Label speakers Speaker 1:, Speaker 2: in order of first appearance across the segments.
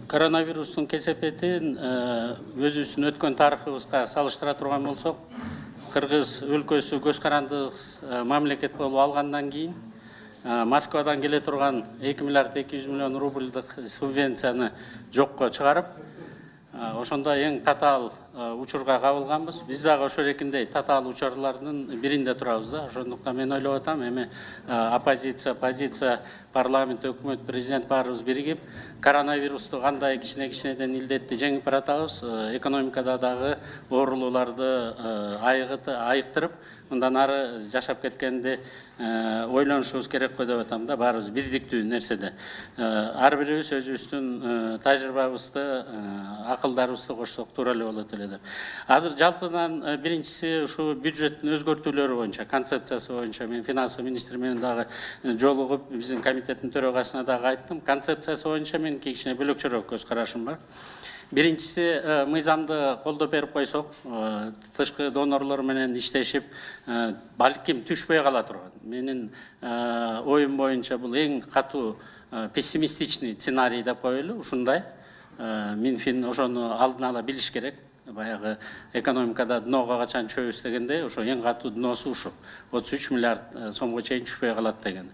Speaker 1: Коронавирустун кесепетин өзүбүздүн өткөн тарыхыбызга салыштыра турган болсок, Кыргыз өлкөсү көз карандысыз мамлекет болуп алгандан кийин Москвадан келе турган 2 миллиард 200 миллион рубльдык субвенцияны жокко чыгарып, ошондо эң татаал учурга кабылганбыз. Биз дагы ошол экиндей татаал учурлардын биринде турабыз да. Ошондуктан мен ойлоп атам, эми оппозиция, позиция, парламент, өкмөт, президент баарыбыз биригип, коронавирусту кандай кичинеден илдетти жеңип баратабыз, экономикада дагы оорулууларды айыктырып, мындан ары жашап кеткенди ойлонушубуз керек го деп атам да, баарыбыз бирдиктүү нерседе. Ар бирибиз өзүбүздүн тажрыйбабызды, акылдарыбызды кошсок туура эле болот эле деп. Азыр жалпыдан биринчиси ушу бюджеттин өзгөртүүлөрү боюнча, концепциясы боюнча мен финансы министри менен дагы жолугуп, биздин комитеттин төрагасына дагы айттым. Концепциясы боюнча мен кичине бөлөкчөрөөк көз карашым бар. Биринчиси, мыйзамды колдоп берип койсок, тышкы донорлор менен иштешип, балким түшпөй кала турган. Менин оюм боюнча бул эң катуу пессимистичный сценарий деп коелу, ушундай. Минфин ошону алдын ала билиш керек. Баягы экономикада днога качан чөбүз дегенде, ошо эң катуу дносу ушу 33 миллиард сомго чейин түшпөй калат деген.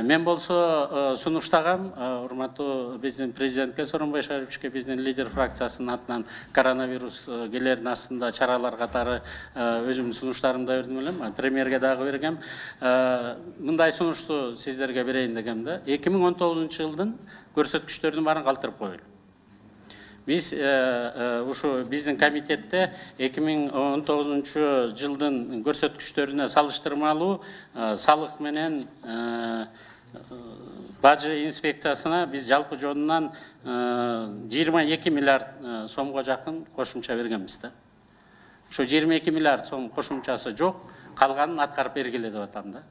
Speaker 1: Мен болсо сунуштагам, урматтуу биздин президентке, Сооронбай Шариповичке, биздин лидер фракциясынын атынан коронавирус келердин астында чаралар катары өзүмдүн сунуштарымды бердим элем, премьерге дагы бергем. Мындай сунушту сиздерге берейин дегем да. 2019 жылдын көрсөткүчтөрүнүн баарын калтырып коелу. Биз ушу биздин комитетте 2019 жылдын көрсөткүчтөрүнө салыштырмалуу салык менен бажы инспекциясына биз жалпы жонунан 22 миллиард сомго жакын кошумча бергенбиз да. Ошо 22 миллиард сом кошумчасы жок, калганын аткарып бергиле деп атам да.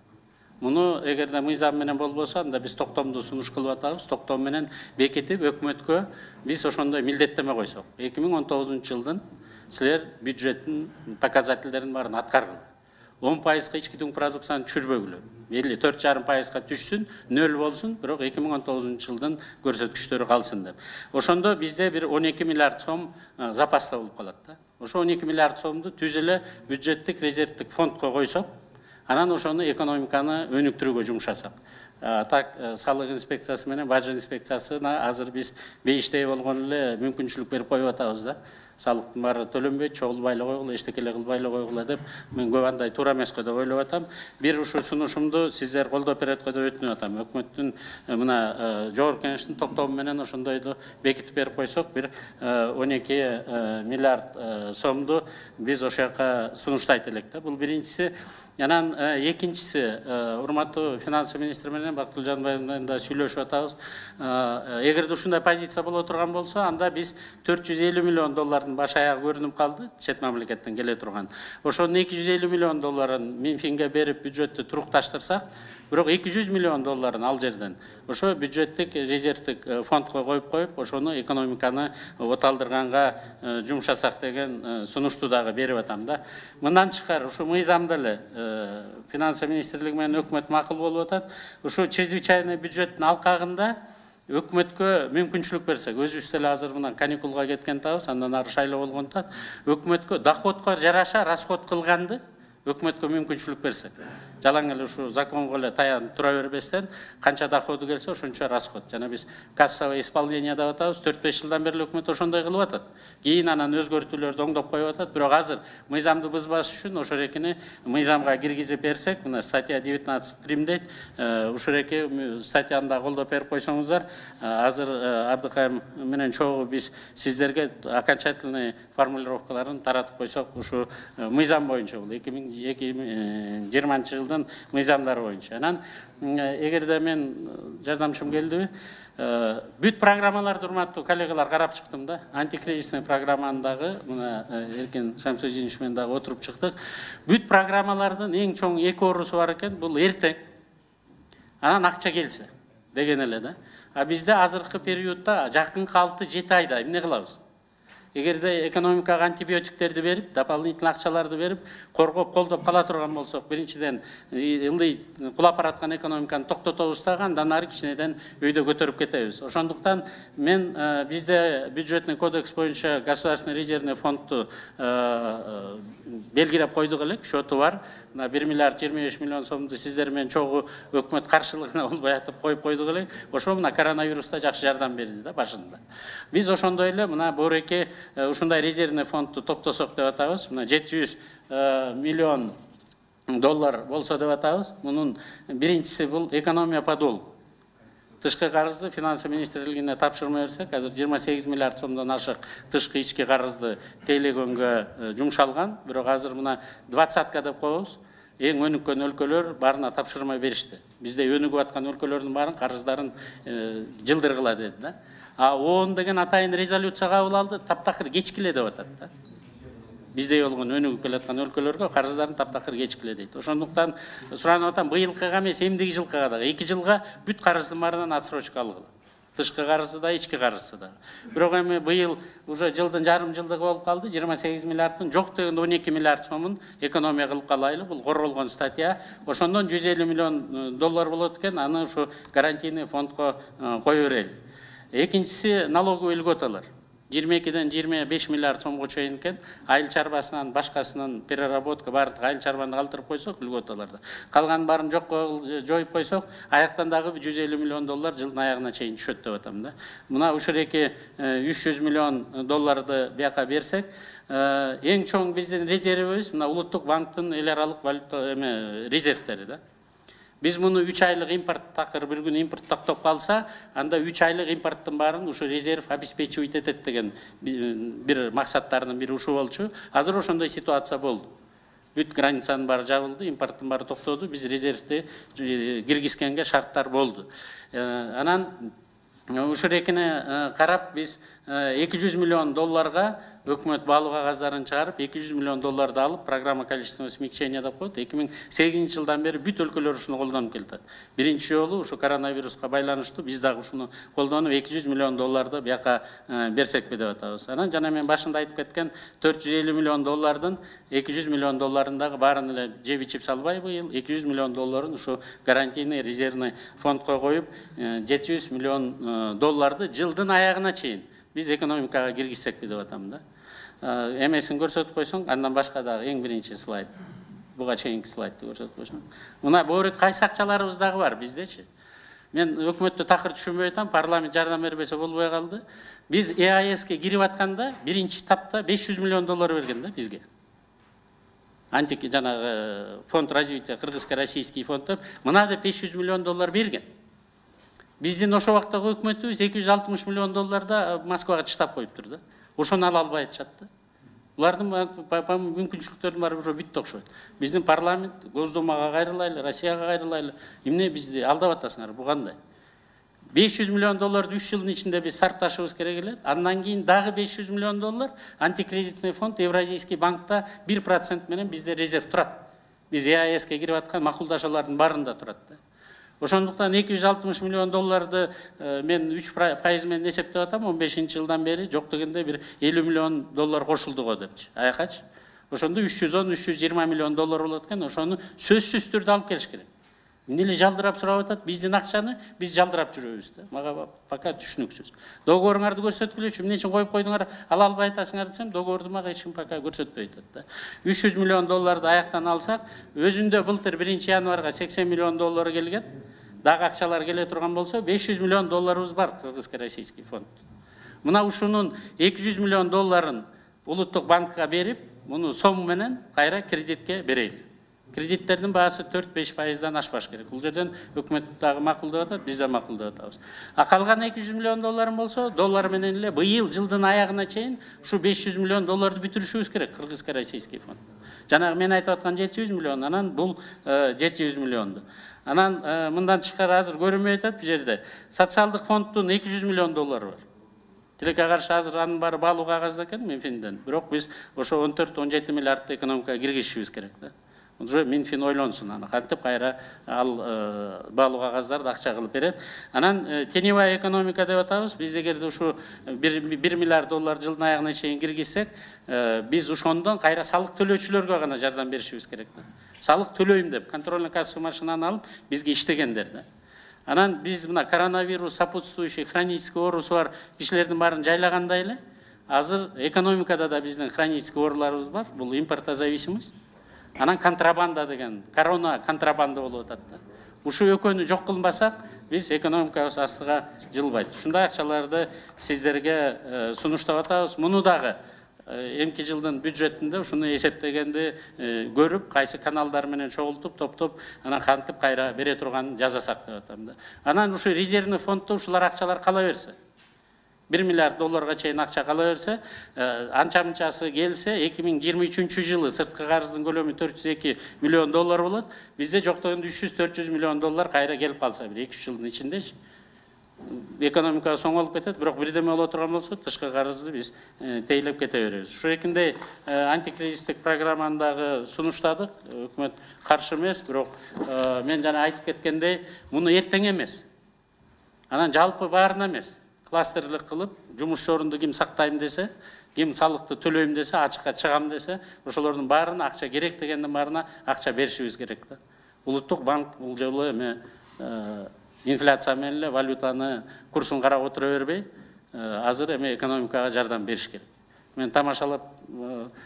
Speaker 1: Муну эгерде мыйзам менен болбосо, анда биз токтомду сунуш кылып атабыз. Токтом менен бекитип өкмөткө биз ошондой милдеттеме койсок. 2019 жылдын силер бюджеттин показательдерин баарын аткаргыла. 10% ички дүң продукцияны түшүрбөгүлө. Мейли 4,5% түшсүн, 0 болсун, бирок 2019 жылдын көрсөткүчтөрү калсын деп. Ошондо бизде бир 12 миллиард сом запаста болуп калат да. Ошо 12 миллиард сомду түз эле бюджеттик резервдик фондко койсок, анан ошону экономиканы өнүктүрүүгө жумшасак. Так, салык инспекциясы менен бажы инспекциясына азыр биз бейиштей болгон эле мүмкүнчүлүк берип коюп атабыз да. Салыктын баары төлөнбөйт, чогулбай эле койгула, эчтеке эле кылбай эле койгула деп, мен көп андай туура эмес го деп ойлоп атам. Бир ушу сунушумду сиздер колдоп берет го деп өтүнүп атам. Өкмөттүн мына жогорку кеңештин токтому менен ошондойду бекитип берип койсок, бир 12 миллиард сомду биз ошол жака сунуштайт элек да. Бул биринчиси. Анан экинчиси, урматтуу финансы министри менен Бактылуу Жанбаев менен да сүйлөшүп атабыз. Эгерде ушундай позиция боло турган болсо, анда биз 450 миллион доллардын баш аягы көрүнүп калды, чет мамлекеттен келе турган. Ошонун 250 миллион долларын Минфинге берип бюджеттти турукташтырсак, бирок 200 миллион долларын ал жерден ошо бюджеттик резервдик фондко коюп, ошону экономиканы оталдырганга жумшасак деген сунушту дагы берип атам да. Мындан тышкары ушу мыйзамда эле финансы министрлиги менен өкмөт макул болуп атат. Ушу чрезвычайный бюджеттин алкагында өкмөткө мүмкүнчүлүк берсек, өзүбүз деле азыр мына каникулга кеткен табыз, андан ары шайлоо болгондуктан өкмөткө доходко жараша расход кылганды өкмөткө мүмкүнчүлүк берсек. Жалаң эле ушу законго эле таянып тура бербестен, канча доходу келсе ошончо расход. Жана биз кассовое исполнение деп атабыз, 4-5 жылдан бери өкмөт ошондой кылып атат. Кийин анан өзгөртүүлөрдү оңдоп коюп атат, бирок азыр мыйзамды бузбаш үчүн ошол экини мыйзамга киргизип берсек, мына статья 19 прим дейт, ушул эки статьяны да колдоп берип койсоңуздар, азыр Абдыкайым менен чогуу биз сиздерге окончательный формулировкаларын таратып койсок, ушу мыйзам боюнча бул 2020 жылдын мыйзамдары боюнча. Анан эгерде мен жардамчым келдиби, бүт программаларды урматтуу коллегалар карап чыктым да. Антикризисный программаны дагы мына Эркин Шамсудинович менен дагы отуруп чыктык. Бүт программалардын эң чоң эки оорусу бар экен, бул эртең. Анан акча келсе деген эле да. А бизде азыркы периодда жакынкы 6-7 айда эмне кылабыз? эгерде экономикага антибиотиктерди берип, дополнительный акчаларды берип, коргоп, колдоп кала турган болсок, биринчиден ылдый кулап бараткан экономиканы токтотобуз дагы, андан ары кичинеден өйдө көтөрүп кетебиз. Ошондуктан мен бизде бюджетный кодекс боюнча государственный резервный фондду белгилеп койдук элек, счету бар. 1 миллиард 25 миллион сомду сиздер менен чогуу өкмөт каршылыгына болбой атып коюп койдук элек. Ошо мына коронавируста жакшы жардам берди да башында. Биз ошондой эле мына боореке ушундай резервный фондду топтосок деп атабыз. Мына 700 миллион доллар болсо деп атабыз. Мунун биринчиси бул экономия по долгу. Тышкы карызды финансы министрлигине тапшырма берсек, азыр 28 миллиард сомдон ашык тышкы ички карызды тейлегөнгө жумшалган. Бирок азыр мына 20-ка деп коебуз. Эң өнүккөн өлкөлөр баарына тапшырма беришти. Бизде өнүгүп аткан өлкөлөрдүн баарын карыздарын жылдыргыла деди да. А ООН деген атайын резолюция кабыл алды, таптакыр кечкиле деп атат да. Биздей болгон өнүгүп келаткан өлкөлөргө карыздарын таптакыр кечкиле дейт. Ошондуктан суранып атам, быйылкыга эмес, эмдиги жылкыга дагы 2 жылга бүт карыздын баарынан отсрочка алгыла. Тышкы карызды да, ички карызды да. Бирок эми быйыл уже жылдын жарым жылдыгы болуп калды. 28 миллиарддын жок дегенде 12 миллиард сомун экономия кылып калайлы. Бул корголгон статья. Ошондон 150 миллион доллар болот экен. Аны ушу гарантийный фондко кое берели. Экинчиси налоговый льготалар. 22-ден 25 миллиард сомго чейин экен. Айыл чарбасынан башкасынын переработка баардык айыл чарбаны калтырып койсок льготаларды. Калган баарын жокко жоюп койсок, аяктан дагы 150 миллион доллар жылдын аягына чейин түшөт деп атам да. Мына ушуреки 300 миллион долларды бияка берсек, эң чоң биздин резервибиз мына Улуттук банктын эл аралык валюта резервтери да. Biz bunu 3 aylık import takır bir gün import toktop kalsa, anda 3 aylık importtun bарын uşu rezerv обеспечивать etет деген bir maksatlarının bir uşu bolчу. Hazır ошондой ситуация болду. Бүт границанын бары жабылды, импорттун бары токтоду, биз резервди киргизгенге шарттар болду. Анан ушул экине карап биз 200 миллион долларга өкмөт баалуу кагаздарын чыгарып 200 миллион долларды алып программа количественного смягчения деп коет. 2008 жылдан бери бүт өлкөлөр ушуну колдонуп келатат. Биринчи жолу ушу коронавируска байланыштуу биз дагы ушуну колдонуп 200 миллион долларды бияка берсекпи деп атабыз. Анан жана мен башында айтып кеткен 450 миллион доллардын 200 миллион долларын дагы баарын эле жеп ичип салбай быйыл 200 миллион долларын ушу гарантийный резервный фондко коюп 700 миллион долларды жылдын аягына чейин биз экономикага киргизсекпи деп атам да. Эмесин көрсөтүп койсоң, андан башка дагы эң биринчи слайд. Буга чейинки слайдты көрсөтүп койсоң. Мына боорек кайсы акчаларыбыз дагы бар биздечи. Мен өкмөттү такыр түшүнбөй атам, парламент жардам бербесе болбой калды. Биз ЭАЭСке кирип атканда биринчи этапта 500 миллион доллар берген да бизге. Антик жанагы фонд развития, кыргызско-российский фонд деп, мына деп 500 миллион доллар берген. Биздин ошо вакыттагы өкмөтүбүз 260 миллион долларда Москвага чыштап коюптур да. Ошону ала албай атышат да. Булардын мүмкүнчүлүктөрүнүн баары уже бүттү окшойт. Биздин парламент Госдумага кайрылайлы, Россияга кайрылайлы. Эмне бизди алдап атасыңар, бу кандай? 500 миллион долларды 3 жылдын ичинде биз сарпташыбыз керек эле. Андан кийин дагы 500 миллион доллар антикредитный фонд Евразийский банкта 1% менен бизде резерв турат. Биз ЭАЭСке кирип аткан макулдашуулардын баарында турат да. Ошондуктан 260 миллион долларды мен 3% менен эсептеп атам, 15-жылдан бери жок дегенде бир 50 миллион доллар кошулду го депчи. Аякачы. Ошондо 310-320 миллион доллар болот экен, ошону сөзсүз түрдө алып келиш керек. Эмне жалдырап сурап атат, биздин акчаны биз жалдырап жүрөбүз да. Мага пока түшүнүксүз. Договоруңарды көрсөткүлөчү, эмне үчүн коюп койдуңар, ала албай атасыңар десем, договорду мага эч ким пока көрсөтпөй атат да. 300 миллион долларды аяктан алсак, өзүндө былтыр 1-январга 80 миллион доллар келген. Дагы акчалар келе турган болсо, 500 миллион долларыбыз бар кыргызско-российский фонд. Мына ушунун 200 миллион долларын Улуттук банкка берип, муну сом менен кайра кредитке берели. Кредиттердин баасы 4-5%дан ашпаш керек. Бул жерден өкмөт дагы макулдап атат, биз да макулдап атабыз. А калган 200 миллион долларым болсо, доллар менен эле быйыл жылдын аягына чейин ушу 500 миллион долларды бүтүрүшүбүз керек кыргызско-российский фонд. Жанагы мен айтып аткан 700 миллион, анан бул 700 миллионду. Анан мындан тышкары азыр көрүнбөй атат бу жерде. Социалдык фонддун 200 миллион доллары бар. Тилекке каршы азыр анын баары баалуу кагазда экен Минфинден. Бирок биз ошо 14-17 миллиардты экономикага киргизишибиз керек да. Уже Минфин ойлонсун аны кантип кайра ал баалуу кагаздарды акча кылып берет. Анан теневая экономика деп атабыз. Биз эгерде ушу 1 миллиард доллар жылдын аягына чейин киргизсек, биз ошондон кайра салык төлөөчүлөргө гана жардам беришибиз керек. Салык төлөйм деп контрольный кассовый машинаны алып бизге иштегендер да. Анан биз мына коронавирус, сопутствующий хронический оорусу бар кишилердин баарын жайлагандай эле, азыр экономикада да биздин хронический ооруларыбыз бар. Бул импортозависимость. Анан контрабанда деген, корона контрабанда болуп атат да. Ушу экөөнү жок кылбасак, биз экономикабыз астыга жылбайт. Ушундай акчаларды сиздерге сунуштап атабыз. Муну дагы эмки жылдын бюджетинде ушуну эсептегенди көрүп, кайсы каналдар менен чогултуп, топтоп, анан кантип кайра бере турганын жазасак деп атам да. Анан ушу резервный фонддо ушулар акчалар кала берсе, 1 миллиард долларга чейин акча кала берсе, анча-мынчасы келсе, 2023 жылы сырткы карыздын көлөмү 402 миллион доллар болот. Бизде жоктогонду 300-400 миллион доллар кайра келип калса, 1-2 жылдын ичиндечи. Экономика соңолуп кетет, бирок бирдеме боло турган болсо, тышкы карызды биз тейлеп кете беребиз. Ошо экинде антикризистик программаны дагы сунуштадык. Өкмөт каршы эмес, бирок мен жана айтып кеткендей, муну эртең эмес. Анан жалпы баарына эмес. Кластерлик кылып, жумуш орунду ким сактайм десе, ким салыкты төлөйм десе, ачыкка чыгам десе, ошолордун баарына акча керек дегендин баарына акча беришибиз керек да. Улуттук банк бул жолу эме инфляция менен эле валютаны курсун карап отура бербей, азыр эме экономикага жардам бериш керек. Мен тамашалап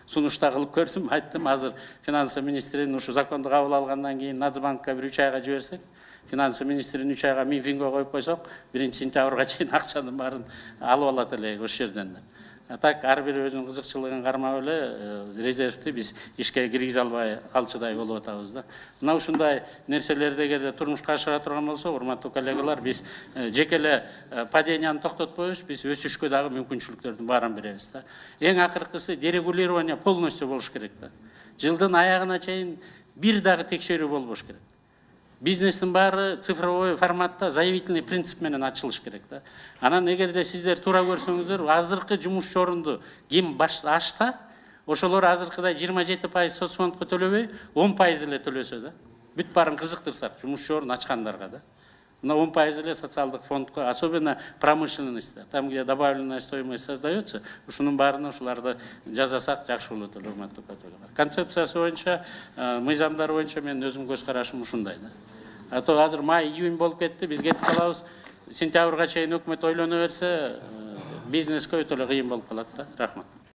Speaker 1: сунушта кылып көрдүм, айттым, азыр финансы министринин ушу законду кабыл алгандан кийин Нацбанкка 1-3 айга жиберсек, финансы министрин 3 айга Минфинге коюп койсок, 1-сентябрга чейин акчанын баарын алып алат эле ошол жерден. Так ар бир өзүнүн кызыкчылыгын кармап эле резервти биз ишке киргизе албай калчудай болуп атабыз да. Мына ушундай нерселерди эгерде турмушка ашыра турган болсо, урматтуу коллегалар, биз жеке эле паденияны токтотпойбуз, биз өсүшкө дагы мүмкүнчүлүктөрдүн баарын беребиз да. Эң акыркысы дерегулирование полностью болуш керек да. Жылдын аягына чейин бир дагы текшерүү болбош керек. Бизнестин баары цифровой форматта заявительный принцип менен ачылыш керек да. Анан эгерде сиздер туура көрсөңүздөр, азыркы жумуш орунду ким ашта, ошолор азыркыдай 27% соцфондко төлөбөй, 10% эле төлөсө да. Бүт баарын кызыктырсак, жумуш орун ачкандарга да. Мына 10% эле социалдык фондко, особенно промышленностьта, там, где добавленная стоимость создается, ушунун баарына ушуларды жазасак жакшы болот эле, урматтуу коллегалар. Концепциясы боюнча, мыйзамдар боюнча мен өзүм көз карашым ушундай да. А то азыр май-июнь болуп кетти, биз кетип калабыз. Сентябрга чейин өкмөт ойлоно берсе, бизнеске өтө эле кыйын болуп калат да. Рахмат.